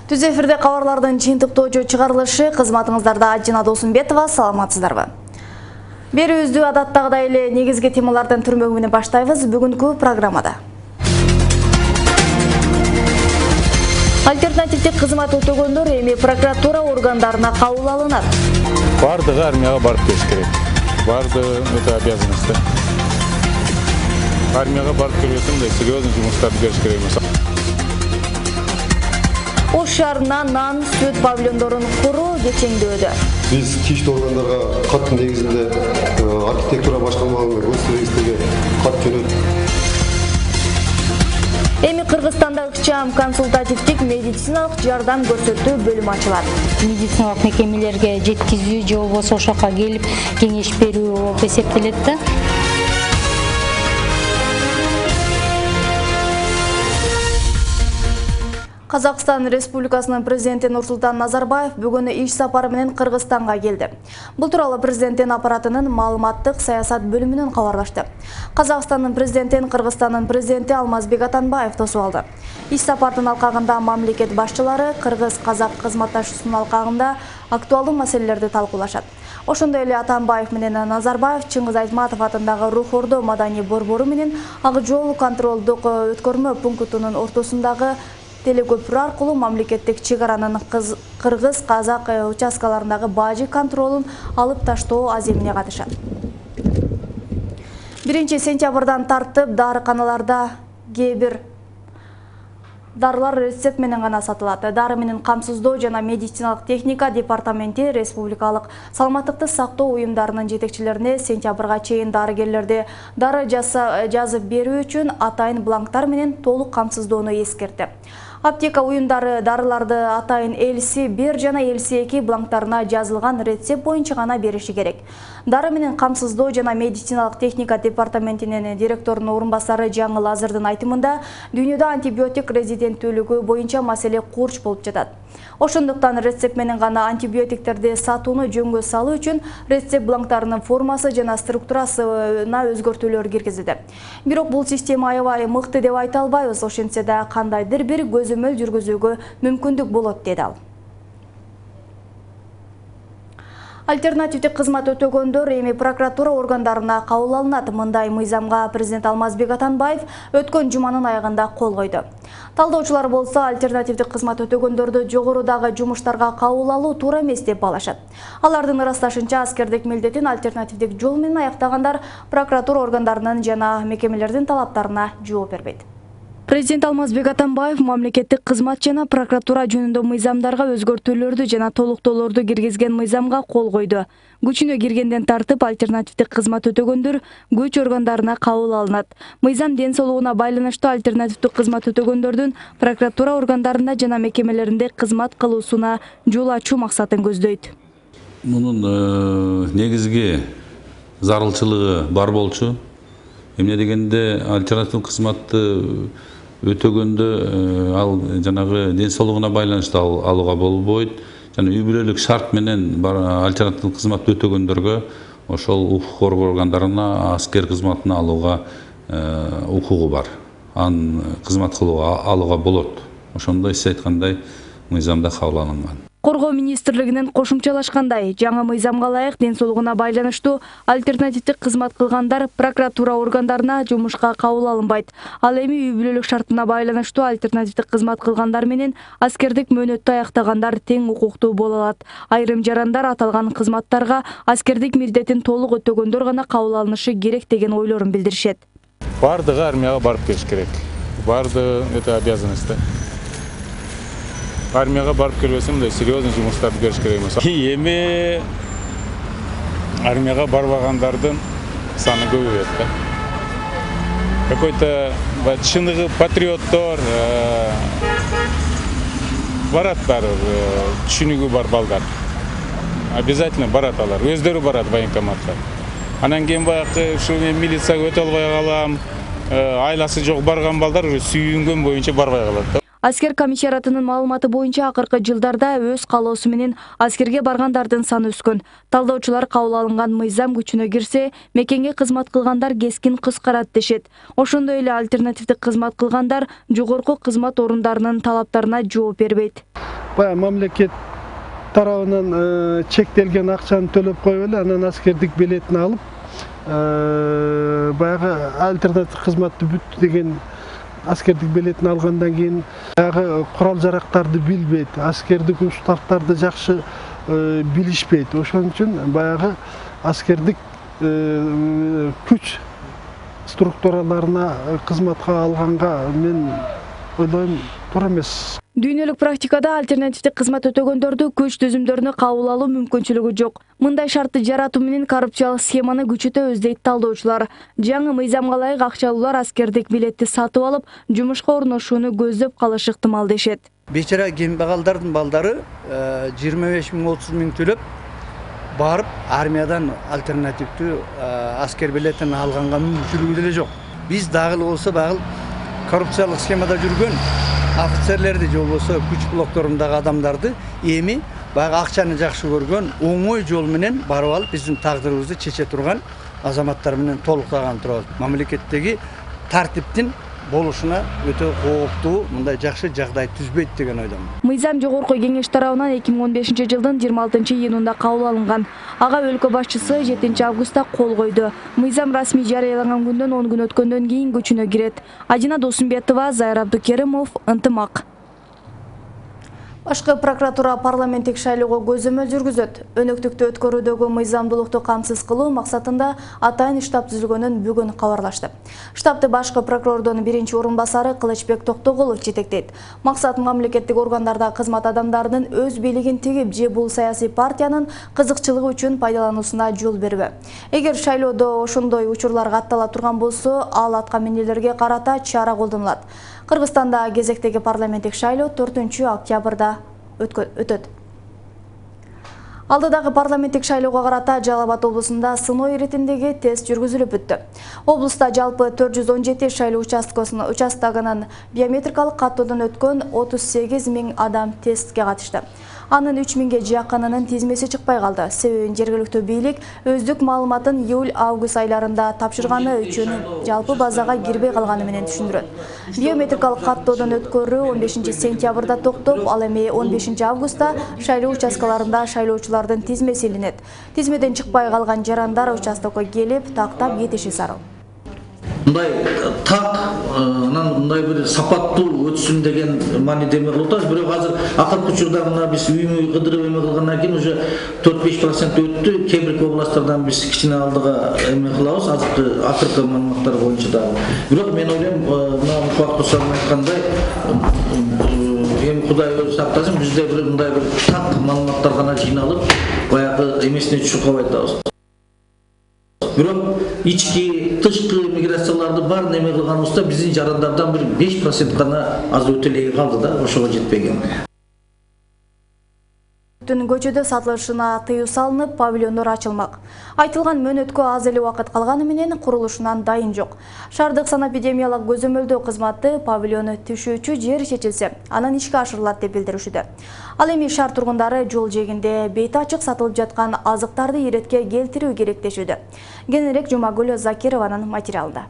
Түз эфирде кабарлардын жыйынтыктоочу чыгарылышы, кызматыңыздарда Ажина Досумбетова, саламатсыздарбы? Берүүбүздү адаттагыдай эле негизги темалардын түрмөгү менен баштайбыз бүгүнкү программада. Альтернативдик кызмат өтөгөндөр эми прокуратура органдарына кабыл алынат. Бардыгы армияга барып келиш керек. Бардыгы это обязанность. Армияга барып келбесем да серьезный жумуштарды бериш керек эмес. Ош шаарына нан, сүт павильондорун куруу кечеңдөөдө. Биз тиештүү органдарга кат негизинде архитектура башкармалыгына госрегистрге кат жөнөттүк. Эми Кыргызстанда ыкчам консультативдик медициналык жардам көрсөтүү бөлүмү ачылат. Медициналык мекемелерге жеткизүү же болбосо ошол жака келип кеңеш берүү болуп эсептелет да. Казакстан Республикасынын президенти Нурсултан Назарбаев бүгүн иш сапары менен Кыргызстанга келди. Бул тууралуу президенттин аппаратынын маалыматтык саясат бөлүмүнөн кабарлашты. Казакстандын президентин Кыргызстандын президенти Алмазбек Атамбаев тосуп алды. Иш сапардын алкагында мамлекет башчылары кыргыз-казак кызматташуусунун алкагында актуалдуу маселелерди талкуулашат. Ошондой эле Атамбаев менен Назарбаев Чыңгыз Айтматов атындагы Рух Ордо маданий борбору менен Ак жол контролдук өткөрмө пунктунун ортосундагы телекөпүрө аркылуу мамлекеттик чек аранын кыргыз-казак участкаларындагы бажы контролун алып таштоо аземине катышат. 1 сентябрдан тартып дарыканаларда кээ бир дарылар рецепт менен гана сатылат. Дары менен камсыздоо жана медициналык техника департаменти республикалык саламаттыкты сактоо уюмдарынын жетекчилерине сентябрга чейин дарыгерлерди дары жазып берүү үчүн атайын бланктар менен толук камсыздоону эскертти. Аптека уюмдары дарыларды атайын LC1 жана LC2 бланктарына жазылган рецепт боюнча гана бериши керек. Дары менен камсыздоо жана медициналык техника департаментинин директорунун орун басары Жаңыл Азырдын айтымында, дүйнөдө антибиотик резиденттүүлүгү боюнча маселе курч болуп жатат. Ошондуктан рецепт менен гана антибиотиктерди сатууну жөнгө салуу үчүн рецепт бланктарынын формасы жана структурасына өзгөртүүлөр киргизилди. Бирок бул система аябай мыкты деп айта албайбыз, ошентсе да кандайдыр бир көзөмөл жүргүзүүгө мүмкүндүк болот, деди ал. Альтернативдик кызмат өтөгөндөр эми прокуратура органдарына кабыл алынат. Мындай мыйзамга президент Алмазбек Атамбаев өткөн жуманын аягында кол койду. Талдоочулар болсо альтернативдик кызмат өтөгөндөрдү жогорудагы жумуштарга кабыл алуу туура эмес деп балашат. Алардын ырасташынча аскердик милдетин альтернативдик жол менен аяктагандар прокуратура органдарынын жана мекемелердин талаптарына жооп бербейт. Президент Алмазбек Атамбаев мамлекеттик кызмат жана прокуратура жөнүндө мыйзамдарга өзгөртүүлөрдү жана толуктоолорду киргизген мыйзамга кол койду. Күчүнө киргенден тартып альтернативдик кызмат өтөгөндөр күч органдарына кабыл алынат. Мыйзам ден соолугуна байланыштуу альтернативдик кызмат өтөгөндөрдүн прокуратура органдарында жана мекемелеринде кызмат кылуусуна жол ачуу максатын көздөйт. Мунун негизги зарылчылыгы бар болчу. Эмне дегенде альтернативдик кызматты өтөгөндө ал жанагы ден соолугуна байланыштуу алууга болбойт. Жана үй бүлөлүк шарт менен альтернативдик кызматты өтөгөндөргө ошол укук органдарына аскер кызматын алууга укугу бар. Аны кызмат кылууга алууга болот. Ошондой сиз айткандай мыйзамда кабыл алынган. Коргоо министрлигинен кошумчалашкандай, жаңы мыйзамга ылайык ден соолугуна байланыштуу альтернативдик кызмат кылгандар прокуратура органдарына жумушка кабыл алынбайт. Ал эми үй бүлөлүк шартына байланыштуу альтернативдик кызмат кылгандар менен аскердик мөөнөттү аяктагандар тең укуктуу боло алат. Айрым жарандар аталган кызматтарга аскердик милдетин толук өтөгөндөр гана кабыл алынышы керек деген ойлорун билдиришет. Бардыгы армияга барып келиш керек. Бардыгы это обязанность. Армияга барып келбесем да серьезный жумуштарды бериш керек эмес. Эми армияга барбагандардын саны көбөйөт да. Какой-то чыныгы патриоттор бараттар, түшүнүгү бар балдар. Обязательно барат алар. Өздөрү барат военкоматка. Анан кийин баягы ушу мен милицияга өтө албай калам. Айласы жок барган балдар уже сүйүнгөн боюнча барбай калат. Аскер комиссариатынын маалыматы боюнча акыркы жылдарда өз каалоосу менен аскерге баргандардын саны өскөн. Талдоочулар кабыл алынган мыйзам күчүнө кирсе, мекенге кызмат кылгандар кескин кыскарат дешет. Ошондой эле альтернативдик кызмат кылгандар жогорку кызмат орундарынын талаптарына жооп бербейт. баягы мамлекет тарабынан чектелген акчаны төлөп коюп эле анан аскердик билетин алып баягы альтернатив кызматты бүттү деген аскердик билетин алгандан кийин баягы курал жарактарды билбейт, аскердик устактарды жакшы билишпейт. Ошон үчүн баягы аскердик күч структураларына кызматка алганга мен ойлойм туура эмес. Дүйнөлүк практикада альтернативдик кызмат өтөгөндөрдү күч түзүмдөрүнө кабыл алуу мүмкүнчүлүгү жок. Мындай шартты жаратуу менен коррупциялык схеманы күчөтөбүз дейт талдоочулар. Жаңы мыйзамга ылайык акчалуулар аскердик билетти сатып алып, жумушка орношууну көздөп калышы ыктымал дешет. Бечара кембагалдардын балдары 25 миң 30 миң төлөп барып армиядан альтернативдүү аскер билетин алганга мүмкүнчүлүгү деле жок. Биз дагы болсо багыл коррупциялык схемада жүргөн офицерлерди же болбосо күч блокторундагы адамдарды эми баягы акчаны жакшы көргөн оңой жол менен барып алып биздин тагдырыбызды чече турган азаматтар менен толуктаган турабыз. Мамлекеттеги тартиптин болушуна өтө кооптуу, мындай жакшы жагдай түзбөйт деген ойдомун. Мыйзам жогорку кеңеш тарабынан 2015 жылдын 26-июнунда кабыл алынган. Ага өлкө башчысы 7 августта кол койду. Мыйзам расмий жарыяланган күндөн 10 күн өткөндөн кийин күчүнө кирет. Адина Досумбетова, Зайыр Абдукеримов, Ынтымак. Башкы прокуратура парламенттик шайлоого көзөмөл жүргүзөт. Өнөктүктү өткөрүүдөгү мыйзамдуулукту камсыз кылуу максатында атайын штаб түзүлгөнүн бүгүн кабарлашты. Штабты башкы прокурордун биринчи орун басары Кылычбек Токтогулов жетектейт. Максат мамлекеттик органдарда кызмат адамдарынын өз бийлигин тигип же бул саясий партиянын кызыкчылыгы үчүн пайдалануусуна жол бербөө. Эгер шайлоодо ошондой учурлар каттала турган болсо, ал атка минерлерге карата чара колдонулат. Кыргызстанда кезектеги парламенттик шайлоо 4-октябрда өтөт. Алдыдагы парламенттик шайлоого карата Жалал-Абад облусунда сыноо иретиндеги тест жүргүзүлүп бүттү. Облуста жалпы 417 шайлоо участогунун биометрикалык каттоодон өткөн 38 миң адам тестке катышты. Анын 3 миңге жакынынын тизмеси чыкпай калды. Себебин жергиликтүү бийлик өздүк маалыматын июль-август айларында тапшырганы үчүн жалпы базага кирбей калганы менен түшүндүрөт. Биометрикалык каттоодон өткөрүү 15 сентябрда токтоп, ал эми 15 августта шайлоо участкаларында шайлоочулардын тизмеси илинет. Тизмеден чыкпай калган жарандар участокко келип, тактап кетиши зарыл. Мындай так, мындай бир сапаттуу өтсүн деген мааниде эме кылып атабыз. Бирок азыр акыркы учурда мына биз үймө кыдырып эме кылгандан кийин уже 4-5% өттү. Кээ бир областтардан биз кичине алдыга эме кылабыз, акыркы маалыматтар боюнча дагы. Бирок мен ойлойм, мына Мухбат Кусанов айткандай, эми Кудай өзү сактасын, бизде бир мындай бир так маалыматтар гана жыйналып, баягы эмесине түшүп калбай атабыз. Бирок ички тышкы миграцияларды бар неме кылганыбызда биздин жарандардан бир 5% гана аз өтө эле калды да, ошого жетпеген. Көчөдө сатылышына тыюу салынып, павильондор ачылмак. Айтылган мөөнөткө аз эле убакыт калганы менен курулушунан дайын жок. Шаардык санэпидемиялык көзөмөлдөө кызматы павильону түшүүчү жер чечилсе, анан ишке ашырылат деп билдиришүүдө. Ал эми шаар тургундары жол жээгинде бети ачык сатылып жаткан азыктарды иретке келтирүү керек дешүүдө. Кененирээк Жумагүл Закированын материалында.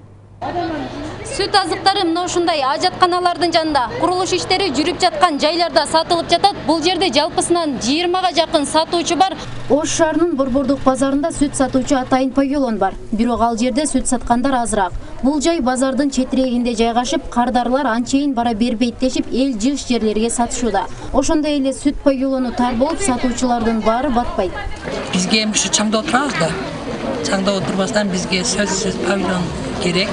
Сүт азыктары мына ушундай ажатканалардын жанында курулуш иштери жүрүп жаткан жайларда сатылып жатат. Бул жерде жалпысынан 20га жакын сатуучу бар. Ош шаарынын Борбордук базарында сүт сатуучу атайын павильон бар. Бирок ал жерде сүт саткандар азыраак. Бул жай базардын четирегинде жайгашып, кардарлар анчейин бара бербейт дешип, эл жыш жерлерге сатышууда. Ошондой эле сүт павильону тар болуп, сатуучулардын баары батпайт. Бизге эми ушу чаңда отурабыз да. Чаңда отурбастан бизге сөзсүз павильон керек.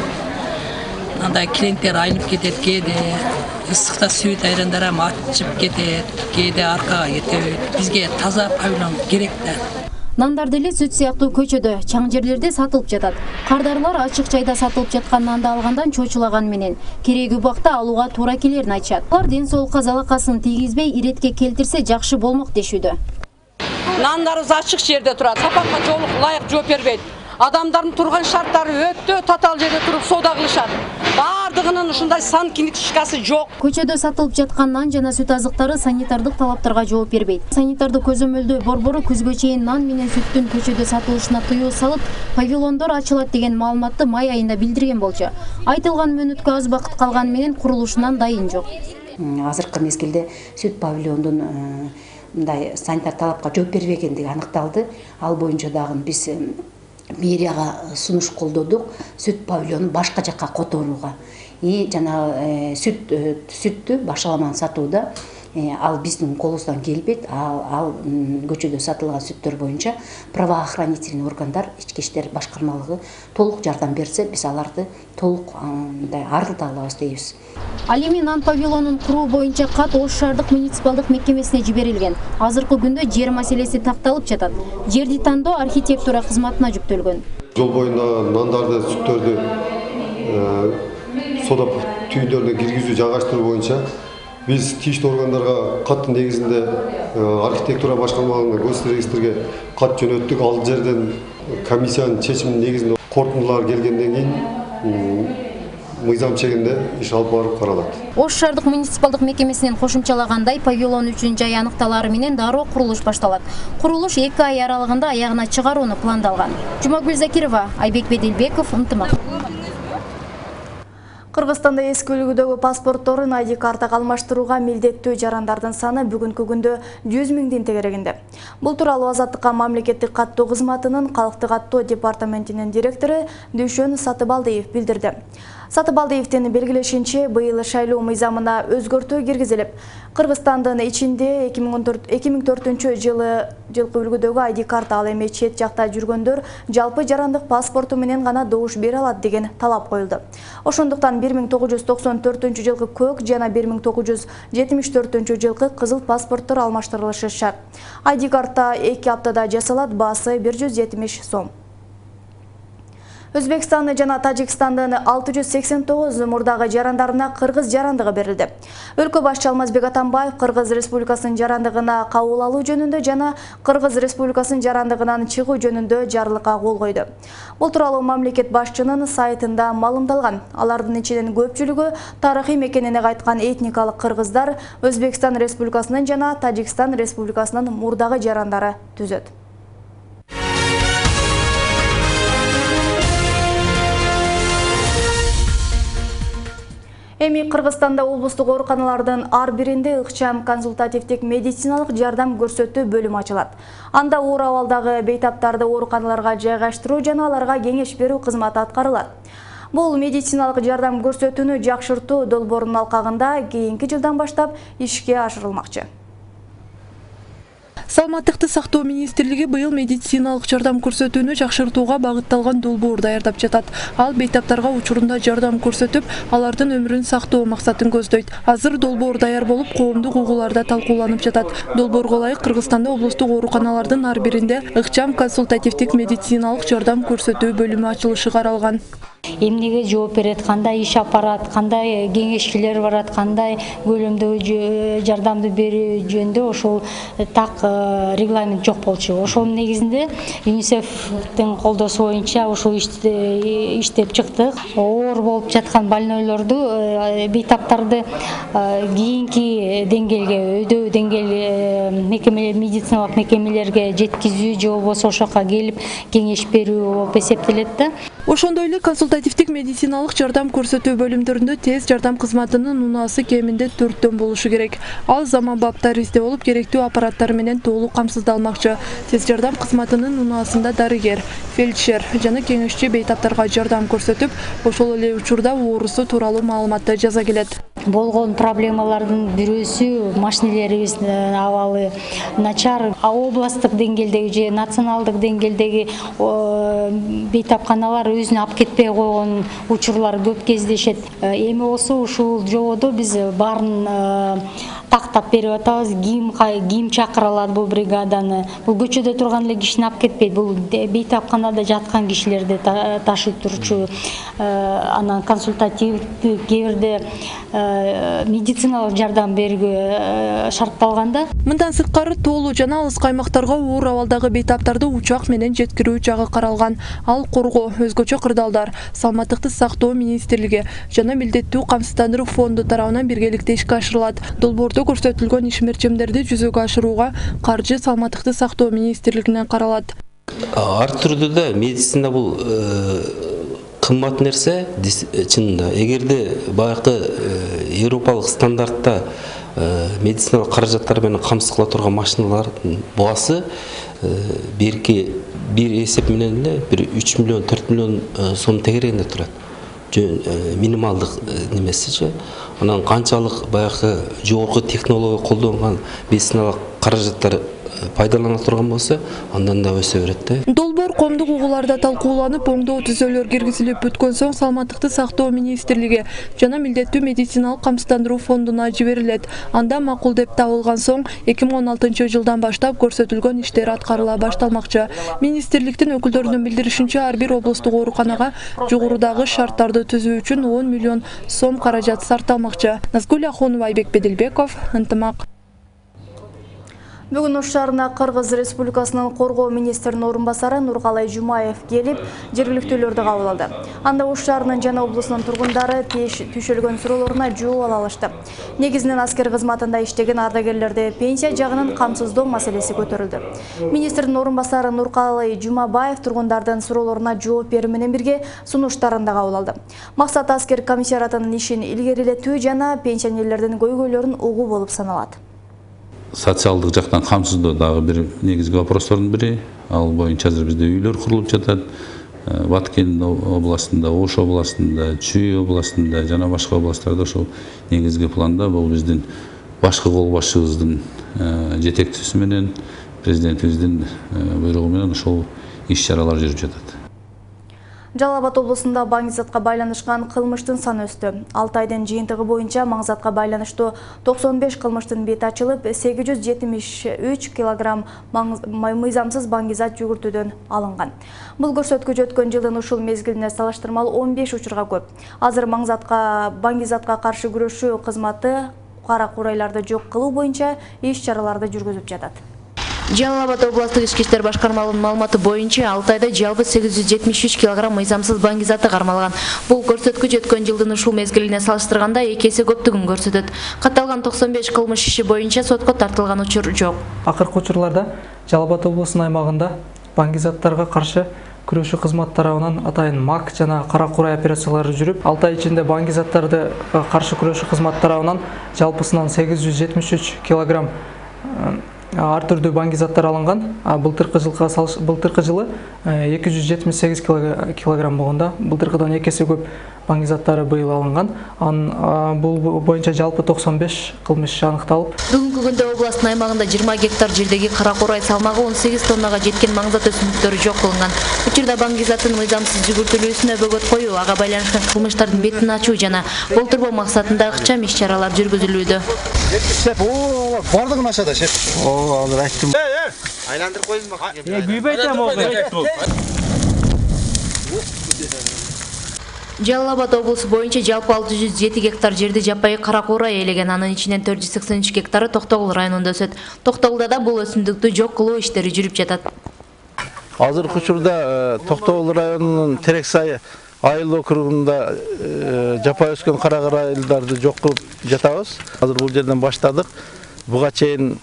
Андай клиенттер айнып кетет, кээде ысыкта сүт айрандар ачып кетет, кээде аркага кетет. Бизге таза павильон керек да. Нандар деле сүт сыяктуу көчөдө, чаң жерлерде сатылып жатат. Кардарлар ачык жайда сатылып жаткан нанды алгандан чочулаган менен кереги убакта алууга туура келерин айтышат. Алар ден соолукка залакасын тийгизбей иретке келтирсе жакшы болмок дешүүдө. Нандарыбыз ачык жерде турат, сапатка ылайык жооп бербейт. Адамдардын турган шарттары өтө татаал жерде туруп соода кылышат. Бардыгынын ушундай санкинишкасы жок. Көчөдө сатылып жаткан нан жана сүт азыктары санитардык талаптарга жооп бербейт. Санитардык көзөмөлдөө борбору күзгө чейин нан менен сүттүн көчөдө сатылышына тыюу салып, павильондор ачылат деген маалыматты май айында билдирген болчу. Айтылган мөөнөткө аз убакыт калганы менен курулушунан дайын жок. азыркы мезгилде сүт павильондун мындай санитар талапка жооп бербегендиги аныкталды. Ал боюнча дагы биз мэрияга сунуш колдодук сүт павильонун башка жакка которууга. И жанагы сүттү башаламан сатууда ал биздин колубуздан келбейт. Ал көчөдө сатылган сүттөр боюнча правоохранительный органдар, ички иштер башкармалыгы толук жардам берсе, биз аларды толук арылта алабыз дейбиз. Ал эми нан павильонун куруу боюнча кат Ош шаардык муниципалдык мекемесине жиберилген. Азыркы күндө жер маселеси такталып жатат. Жерди тандоо архитектура кызматына жүктөлгөн. Жол боюнда нандарды, сүттөрдү сода түйүндөрүнө киргизүү, жайгаштыруу боюнча биз тийиштүү органдарга кат негизинде архитектура башкармалыгына көчө регистрге кат жөнөттүк. Ал жерден комиссиянын чечиминин негизинде корутундулар келгенден кийин мыйзам чегинде иш алып барып каралат. Ош шаардык муниципалдык мекемесинен кошумчалагандай, павильон үчүн жай аныкталары менен дароо курулуш башталат. Курулуш 2 ай аралыгында аягына чыгарууну пландалган. Жумагүл Закирова, Айбек Беделбеков, Ынтымак. Кыргызстанда эски үлгүдөгү паспортторун ID картага алмаштырууга милдеттүү жарандардын саны бүгүнкү күндө 100 миңдин тегерегинде. Бул тууралуу Азаттыкка мамлекеттик каттоо кызматынын калктык каттоо департаментинин директору Дүйшөн Сатыбалдиев билдирди. Сатыбалдиевдин белгилешинче, быйыл шайлоо мыйзамына өзгөртүү киргизилип, Кыргызстандын ичинде 2004-жылкы үлгүдөгү ID карта, ал эми чет жакта жүргөндөр жалпы жарандык паспорту менен гана добуш бере алат деген талап коюлду. Ошондуктан 1994-жылкы көк жана 1974-жылкы кызыл паспорттор алмаштырылышы шарт. ID карта 2 аптада жасалат, баасы 170 сом. Өзбекстан жана Тажикстандын 689 мурдагы жарандарына кыргыз жарандыгы берилди. Өлкө башчы Алмазбек Атамбаев Кыргыз Республикасынын жарандыгына кабыл алуу жөнүндө жана Кыргыз Республикасынын жарандыгынан чыгуу жөнүндө жарлыкка кол койду. Бул тууралуу мамлекет башчынын сайтында маалымдалган. Алардын ичинен көпчүлүгү тарыхый мекенине кайткан этникалык кыргыздар Өзбекстан Республикасынын жана Тажикстан Республикасынын мурдагы жарандары түзөт. Эми Кыргызстанда облустук ооруканалардын ар биринде ыкчам консультативдик медициналык жардам көрсөтүү бөлүмү ачылат. Анда оор абалдагы бейтаптарды ооруканаларга жайгаштыруу жана аларга кеңеш берүү кызматы аткарылат. Бул медициналык жардам көрсөтүүнү жакшыртуу долбоорунун алкагында кийинки жылдан баштап ишке ашырылмакчы. Саламаттыкты сактоо министрлиги быйыл медициналык жардам көрсөтүүнү жакшыртууга багытталган долбоор даярдап жатат. Ал бейтаптарга учурунда жардам көрсөтүп, алардын өмүрүн сактоо максатын көздөйт. Азыр долбоор даяр болуп, коомдук угууларда талкууланып жатат. Долбоорго ылайык Кыргызстанда облустук ооруканалардын ар биринде ыкчам консультативдик медициналык жардам көрсөтүү бөлүмү ачылышы каралган. Эмнеге жооп берет, кандай иш аппарат, кандай кеңешчилер барат, кандай көлөмдөгү жардамды берүү жөнүндө ошол так регламент жок болчу. Ошонун негизинде ЮНИСЕФтин колдоосу боюнча ошол иштеп чыктык. Оор болуп жаткан больнойлорду, бейтаптарды кийинки деңгээлге, өйдөө деңгээл медициналык мекемелерге жеткизүү же болбосо ошол жака келип кеңеш берүү болуп эсептелет да. Ошондой эле консультативдик медициналык жардам көрсөтүү бөлүмдөрүндө тез жардам кызматынын унаасы кеминде 4төн болушу керек. Ал заманбап таризде болуп, керектүү аппараттар менен толук камсыздалмакчы. Тез жардам кызматынын унаасында дарыгер, фельдшер жана кеңешчи бейтаптарга жардам көрсөтүп, ошол эле учурда оорусу тууралуу маалыматты жаза келет. Болгон проблемалардын бирөөсү машинелерибиздин абалы начар. Областтык деңгээлдеги же националдык деңгээлдеги бейтапканалар өзүнө алып кетпей койгон учурлар көп кездешет. Эми болсо ушул жободо биз баарын тактап берип атабыз. Ким чакырылат бул бригаданы. Бул көчөдө турган эле кишини алып кетпейт. Бул бейтапканада жаткан кишилерди ташып турчу, анан консультативдик, кээ бирде медициналык жардам берүүгө шартталганда. Мындан сырткары тоолуу жана алыс аймактарга оор абалдагы бейтаптарды учак менен жеткирүү жагы каралган. Ал коргоо, өзгөчө кырдаалдар, Саламаттыкты сактоо министрлиги жана милдеттүү камсыздандыруу фонду тарабынан биргеликте ишке ашырылат. Долбоордо көрсөтүлгөн ишмерчимдерди жүзөгө ашырууга каржы Саламаттыкты сактоо министрлигинен каралат. Ар түрдүү да медицина бул кымбат нерсе чынында. Эгерде баягы европалык стандартта медициналык каражаттар менен камсыз кыла турган машиналардын баасы берки бир эсеп менен эле 3 миллион 4 миллион сом тегерегинде турат. Минималдык немесичи. Анан канчалык баягы жогорку технология колдонгон медициналык каражаттар пайдалана турган болсо, андан да өсө берет да. Долбоор коомдук угууларда талкууланып, оңдоо түзөлөр киргизилип бүткөн соң Саламаттыкты сактоо министрлиги жана милдеттүү медициналык камсыздандыруу фондуна жиберилет. Анда макул деп табылган соң 2016-жылдан баштап көрсөтүлгөн иштер аткарыла башталмакчы. Министрликтин өкүлдөрүнүн билдиришинче, ар бир облустук ооруканага жогорудагы шарттарды түзүү үчүн 10 миллион сом каражат сарпталмакчы. Назгүл Ахунова, Айбек Бедилбеков, Ынтымак. Бүгүн Ош шаарына Кыргыз Республикасынын коргоо министринин орун басары Нуркалай Жумаев келип, жергиликтүүлөрдү кабыл алды. Анда Ош шаарынын жана облусунун тургундары түшүлгөн суроолоруна жооп ала алышты. Негизинен аскер кызматында иштеген ардагерлерде пенсия жагынан камсыздоо маселеси көтөрүлдү. Министрдин орун басары Нуркалай Жумабаев тургундардын суроолоруна жооп берүү менен бирге сунуштарын да кабыл алды. Максат аскер комиссариатынын ишин илгерилетүү жана пенсионерлердин көйгөйлөрүн угуу болуп саналат. Социалдык жактан камсыздоо дагы бир негизги вопростордун бири. Ал боюнча азыр бизде үйлөр курулуп жатат. Баткен областында, Ош областында, Чүй областында жана башка областтарда ошол негизги планда бул биздин башкы кол башчыбыздын жетектүүсү менен, президентибиздин буйругу менен ошол иш-чаралар жүрүп жатат. Жалал Абад облусунда маңызатка байланышкан кылмыштын саны өстү. 6 айдын жыйынтыгы боюнча маңызатка байланыштуу 95 кылмыштын бети ачылып, 873 килограмм мыйзамсыз баңгизат жүгүртүүдөн алынган. Бул көрсөткүч өткөн жылдын ушул мезгилине салыштырмалуу 15 учурга көп. Азыр баңгизатка каршы күрөшүү кызматы кара курайларды жок кылуу боюнча иш-чараларды жүргүзүп жатат. Жалал Абад областык ички иштер башкармалыгынын маалыматы боюнча 6 айда жалпы 873 килограмм мыйзамсыз баңгизаты кармалган. Бул көрсөткүч өткөн жылдын ушул мезгилине салыштырганда 2 эсе көптүгүн көрсөтөт. Катталган 95 кылмыш иши боюнча сотко тартылган учур жок. Акыркы учурларда Жалал Абад облусунун аймагында баңгизаттарга каршы күрөшүү кызматы тарабынан атайын МАК жана кара курай операциялары жүрүп, 6 ай ичинде баңгизаттарды каршы күрөшүү кызматы тарабынан жалпысынан 873 килограмм ар түрдүү баңгизаттар алынган. Былтыркы жылы 278 килограмм болгондо, былтыркыдан 2 эсе көп баңгизаттары быйыл алынган. Бул боюнча жалпы 95 кылмыш аныкталып. Бүгүнкү күндө областтын аймагында 20 гектар жердеги кара курай салмагы 18 тоннага жеткен маңзат өсүмдүктөрү жок кылынган. Учурда баңгизаттын мыйзамсыз жүгүртүлүүсүнө бөгөт коюу, ага байланышкан кылмыштардын бетин ачуу жана болтурбоо максатында ыкчам иш-чаралар жүргүзүлүүдө. Бардыгын ашада шеп. Азыр айттым. Айландырып койдум. Күйбөйтөм ол. Жалал Абад облусу боюнча жалпы 607 гектар жерди жапайы кара курай ээлеген, анын ичинен 483 гектары Токтогул районунда өсөт. Токтогулда да бул өсүмдүктү жок кылуу иштери жүрүп жатат. Азыркы учурда Токтогул районунун Терексай айыл округунда жапайы өскөн кара курайларды жок кылып жатабыз. Азыр бул жерден баштадык. Буга чейин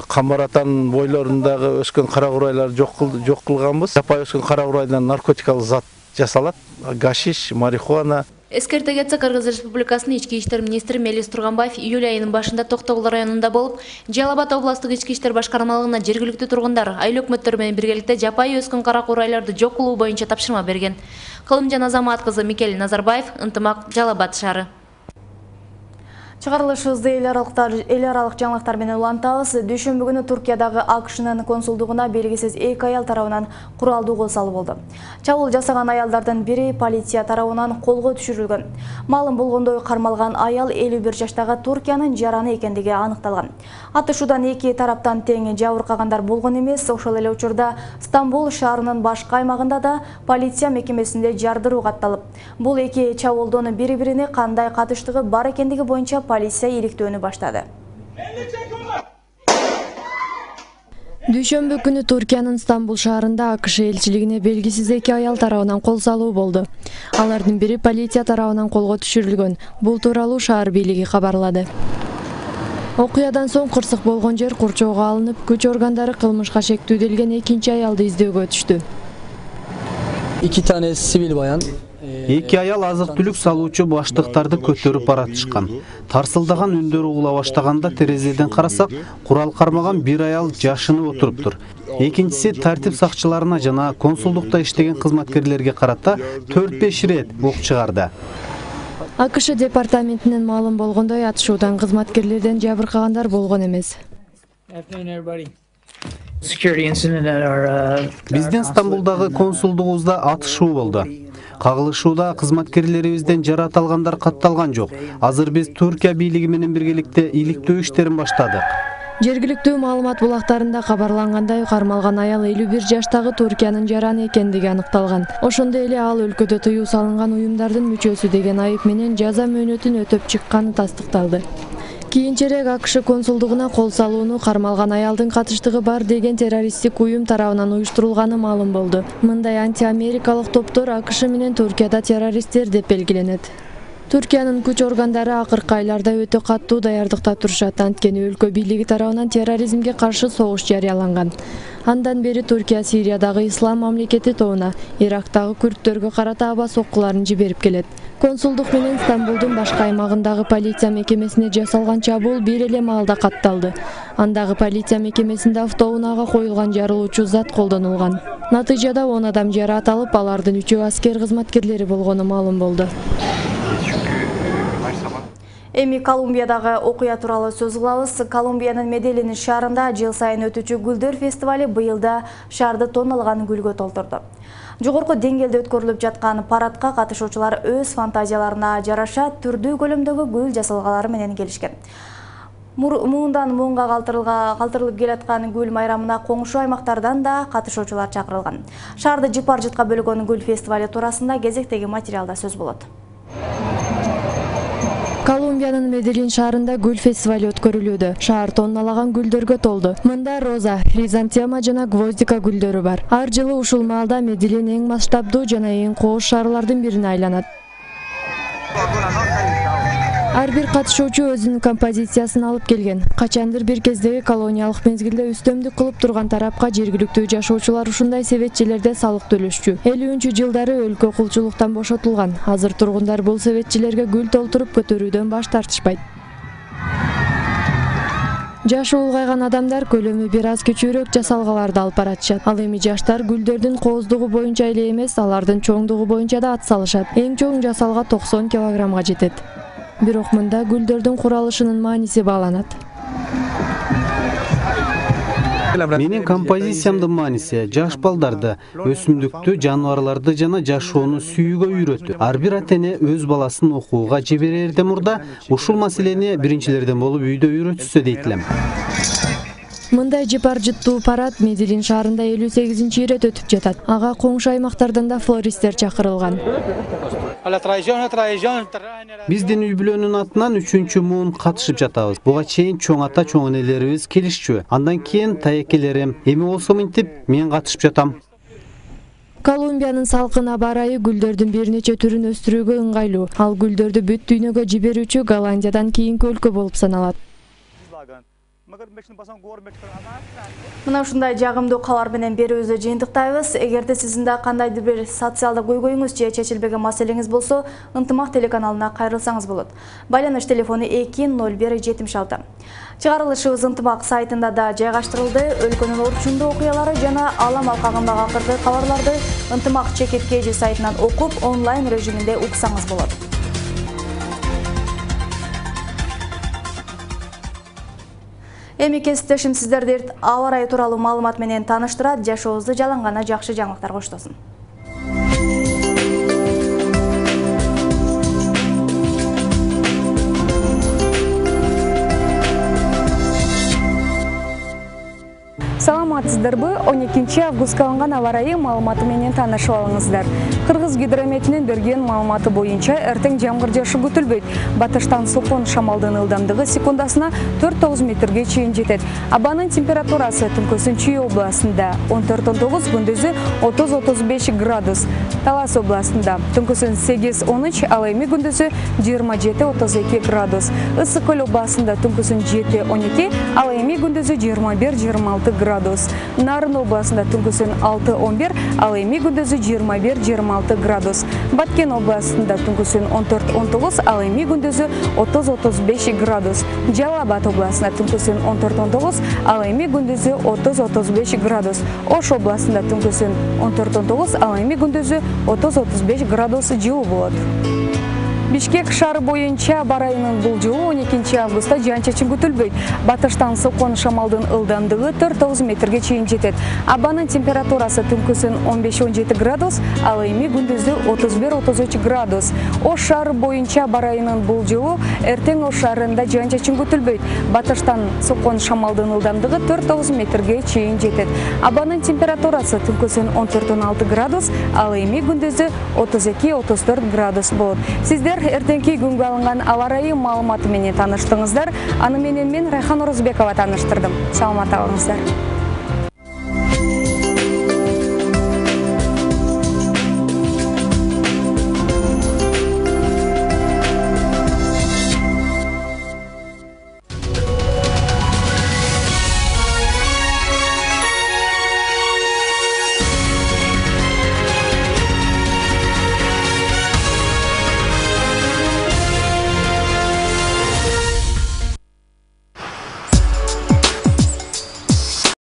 Камбаратан бойлорундагы өскөн кара курайларды жок кылганбыз. Жапайы өскөн кара курайдан наркотикалык зат жасалат. Гашиш, марихуана. Эскерте кетсек, Кыргыз Республикасынын ички иштер министри Мелис Турганбаев июль айынын башында Токтогул районунда болуп, Жалал Абад областык ички иштер башкармалыгына жергиликтүү тургундар, айыл өкмөттөрү менен биргеликте жапайы өскөн кара курайларды жок кылуу боюнча тапшырма берген. Кылымжан Азамат кызы Микель Назарбаев, Ынтымак, Жалал Абад шаары. Чыгарылышыбызды эл аралык жаңылыктар менен улантабыз. Дүйшөмбү күнү Туркиядагы АКШнын консулдугуна белгисиз 2 аял тарабынан куралдуу кол салуу болду. Чабуул жасаган аялдардын бири полиция тарабынан колго түшүрүлгөн. Маалым болгондой, кармалган аял 51 жаштагы Туркиянын жараны экендиги аныкталган. Атышуудан 2 тараптан тең жабыркагандар болгон эмес. Ошол эле учурда Стамбул шаарынын башка аймагында да полиция мекемесинде жардыруу катталып, бул 2 чабуулдун бири-бирине кандай катыштыгы бар экендиги боюнча полиция иликтөөнү баштады. Дүйшөмбү күнү Туркиянын Стамбул шаарында АКШ элчилигине белгисиз 2 аял тарабынан кол салуу болду. Алардын бири полиция тарабынан колго түшүрүлгөн. Бул тууралуу шаар бийлиги кабарлады. Окуядан соң кырсык болгон жер курчоого алынып, күч органдары кылмышка шектүү делген 2 аялды издөөгө түштү. 2 tane sivil bayan Эки аял азык-түлүк салуучу баштыктарды көтөрүп баратышкан. Тарсылдаган үндөр угула баштаганда терезеден карасак, курал кармаган бир аял жашынып отуруптур. Экинчиси тартип сакчыларына жана консулдукта иштеген кызматкерлерге карата 4-5 ирет оқ чыгарды. АКШ департаментинин маалым болгондой, атышуудан кызматкерлерден жабыркагандар болгон эмес. Биздин Стамбулдагы консулдугубузда атышуу болду. Кагылышууда кызматкерлерибизден жараат алгандар катталган жок. Азыр биз Түркия бийлиги менен биргеликте иликтөө иштерин баштадык. Жергиликтүү маалымат булактарында кабарлангандай, кармалган аял 51 жаштагы Түркиянын жараны экендиги аныкталган. Ошондой эле ал өлкөдө тыюу салынган уюмдардын мүчөсү деген айып менен жаза мөөнөтүн өтөп чыкканы тастыкталды. Кийинчерээк АКШ консулдугуна кол салууну кармалган аялдын катыштыгы бар деген террористтик уюм тарабынан уюштурулганы маалым болду. Мындай антиамерикалык топтор АКШ менен Түркияда террористтер деп белгиленет. Түркиянын күч органдары акыркы айларда өтө каттуу даярдыкта турушат, анткени өлкө бийлиги тарабынан терроризмге каршы согуш жарыяланган. Андан бери Түркия Сириядагы ислам мамлекети тобуна, Ирактагы күрттөргө карата аба соккуларын жиберип келет. Консулдук менен Стамбулдун башка аймагындагы полиция мекемесине жасалган чабуул бир эле маалда катталды. Андагы полиция мекемесинде автоунаага коюлган жарылуучу зат колдонулган. Натыйжада 10 адам жараат алып, алардын 3-өө аскер кызматкерлери болгону маалым болду. Эми Колумбиядагы окуя тууралуу сөз кылабыз. Колумбиянын Меделлин шаарында жыл сайын өтүүчү гүлдөр фестивали быйылда шаарды тонналган гүлгө толтурду. Жогорку деңгээлде өткөрүлүп жаткан парадка катышуучулар өз фантазияларына жараша түрдүү көлөмдөгү гүл жасалгалары менен келишкен. Муундан муунга калтырылып келаткан гүл майрамына коңшу аймактардан да катышуучулар чакырылган. Шаарды жыпар-жытка бөлгөн гүл фестивали туурасында кезектеги материалда сөз болот. Колумбиянын Меделлин шаарында гүл фестивали өткөрүлүүдө. Шаар тонналаган гүлдөргө толду. Мында роза, хризантема жана гвоздика гүлдөрү бар. Ар жылы ушул маалда Меделлин эң масштабдуу жана эң кооз шаарлардын бирине айланат. Ар бир катышуучу өзүнүн композициясын алып келген. Качандыр бир кездеги колониялык мезгилде үстөмдүк кылып турган тарапка жергиликтүү жашоочулар ушундай себетчилерде салык төлөшчү. 50-жылдары өлкө кулчулуктан бошотулган. Азыр тургундар бул себетчилерге гүл толтуруп көтөрүүдөн баш тартышпайт. Жашы улгайган адамдар көлөмү бир аз кичүүрөөк жасалгаларды алып баратышат. Ал эми жаштар гүлдөрдүн кооздугу боюнча эле эмес, алардын чоңдугу боюнча да ат салышат. Эң чоң жасалга 90 килограммга жетет. Бирок мында гүлдөрдүн куралышынын мааниси бааланат. Менин композициямдын мааниси жаш балдарды, өсүмдүктү, жаныбарларды жана жашоону сүйүүгө үйрөтүү. Ар бир ата-эне өз баласын окууга жиберерден мурда ушул маселени биринчилерден болуп үйдө үйрөтүшсө дейт элем. Мындай жыпар-жыттуу парад Меделлин шаарында 58-чи ирет өтүп жатат. Ага коңшу аймактардан да флористтер чакырылган. Биздин үй бүлөнүн атынан 3-чү муун катышып жатабыз. Буга чейин чоң ата, чоң энелерибиз келишчү. Андан кийин таекелерим. Эми болсо мынтип мен катышып жатам. Колумбиянын салкын аба ырайы гүлдөрдүн бир нече түрүн өстүрүүгө ыңгайлуу. Ал гүлдөрдү бүт дүйнөгө жиберүүчү Голландиядан кийинки өлкө болуп саналат. Мына ушундай жагымдуу кабар менен берүүбүздү жыйынтыктайбыз. Эгерде сиздин да кандайдыр бир социалдык көйгөйүңүз же чечилбеген маселеңиз болсо, Ынтымак телеканалына кайрылсаңыз болот. Байланыш телефону 20176. Чыгарылышыбыз Ынтымак сайтында да жайгаштырылды. Өлкөнүн орчундуу окуялары жана алам алкагындагы акыркы кабарларды Ынтымак ЧК сайтынан окуп, онлайн режиминде уксаңыз болот. Эми кесиптешим сиздерди аба ырайы тууралуу маалымат менен тааныштырат. Жашообузду жалангана жакшы жаңылыктар коштосун. Саламатсыздарбы? 12 августка алынган аба ырайы маалыматы менен таанышып алыңыздар. Кыргыз гидрометинин берген маалыматы боюнча эртең жамгыр жаашы күтүлбөйт. Батыштан сокон шамалдын ылдамдыгы секундасына 4-9 метрге чейин жетет. Абанын температурасы түнкүсүн Чүй областында 14-19, күндүзү 30-35 градус. Талас областында түнкүсүн 8-13, ал эми күндүзү 27-32 градус. Ысык көл областында түнкүсүн 7-12, ал эми күндүзү 21-26 градус. градус. Нарын областында түнкүсүн 6-11, ал эми күндүзү 21-26 градус. Баткен областында түнкүсүн 14-19, ал эми күндүзү 30-35 градус. Жалал Абад областында түнкүсүн 14-19, ал эми күндүзү 30-35 градус. Ош областында түнкүсүн 14-19, ал эми күндүзү 30-35 градус жылуу болот. Бишкек шаары боюнча бар айынын бул жылы 12 августта жаан-чачын күтүлбөйт. Батыштан сокон шамалдын ылдамдыгы 4-9 метрге чейин жетет. Абанын температурасы түнкүсүн 15-17 градус, ал эми күндүзү 31-33 градус. Ош шаары боюнча бар айынын бул жылы эртең Ош шаарында жаан-чачын күтүлбөйт. Батыштан сокон шамалдын ылдамдыгы 4-9 метрге чейин жетет. Абанын температурасы түнкүсүн 14-16 градус, ал эми күндүзү 32-34 градус болот. Сиздер эртеңки күнгө алынган аба ырайы маалыматы менен тааныштыңыздар. Аны менен мен Райхан Орозбекова тааныштырдым. Саламат калыңыздар.